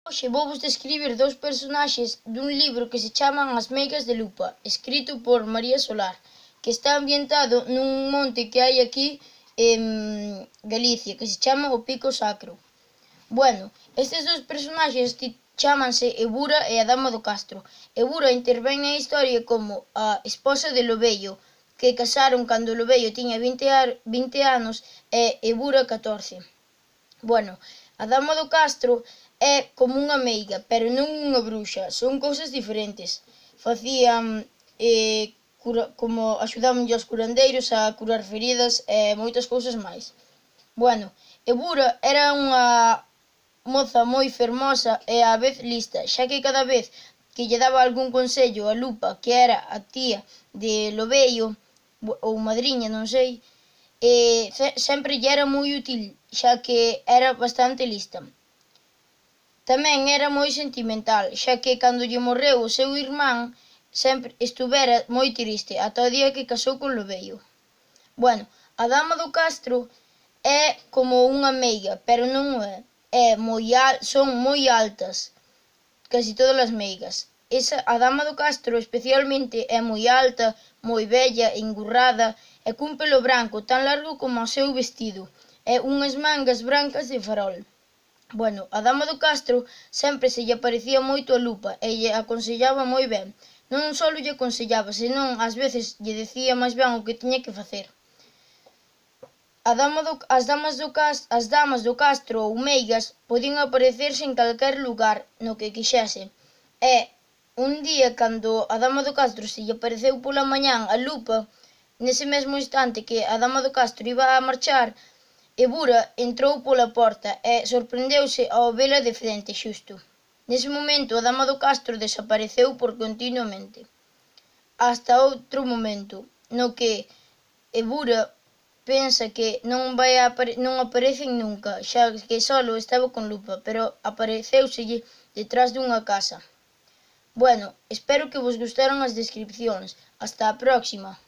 Hoxe vouvos describir dous personaxes dun libro que se chaman As meigas de lupa, escrito por María Solar, que está ambientado nun monte que hai aquí en Galicia, que se chama o Pico Sacro. Bueno, estes dous personaxes chámanse Ebura e a Dama do Castro. Ebura intervén na historia como a esposa de Lobeio, que casaron cando Lobeio tiña 20 anos e Ebura 14. Bueno, a Dama do Castro é como unha meiga, pero non unha bruxa, son cousas diferentes. Facían como axudábanlle aos curandeiros a curar feridas e moitas cousas máis. Bueno, Ebura era unha moza moi fermosa e á vez lista, xa que cada vez que lle daba algún consello a Lupa, que era a tía de Lobeio, ou madriña, non sei, sempre lle era moi útil, xa que era bastante lista. Tamén era moi sentimental, xa que cando lle morreu o seu irmán sempre estuvera moi triste, ata o día que casou con Lobeio. Bueno, a Dama do Castro é como unha meiga, pero non é. Son moi altas, casi todas as meigas. A Dama do Castro especialmente é moi alta, moi bella, engurrada e cun pelo branco tan largo como o seu vestido e unhas mangas brancas de farol. Bueno, a Dama do Castro sempre se lle parecía moito a Lupa e lle aconsellaba moi ben. Non só lle aconsellaba, senón ás veces lle decía máis ben o que tiña que facer. As damas do Castro ou meigas podían aparecerse en calquer lugar no que quixese. E un día, cando a Dama do Castro se lle apareceu pola mañán a Lupa, nese mesmo instante que a Dama do Castro iba a marchar, Ebura entrou pola porta e sorprendeuse ao vela de frente xusto. Nese momento a Dama do Castro desapareceu por continuamente. Hasta outro momento, no que Ebura pensa que non aparecen nunca, xa que solo estaba con Lupa, pero apareceuselle detrás dunha casa. Bueno, espero que vos gustaron as descripcións. Hasta a próxima.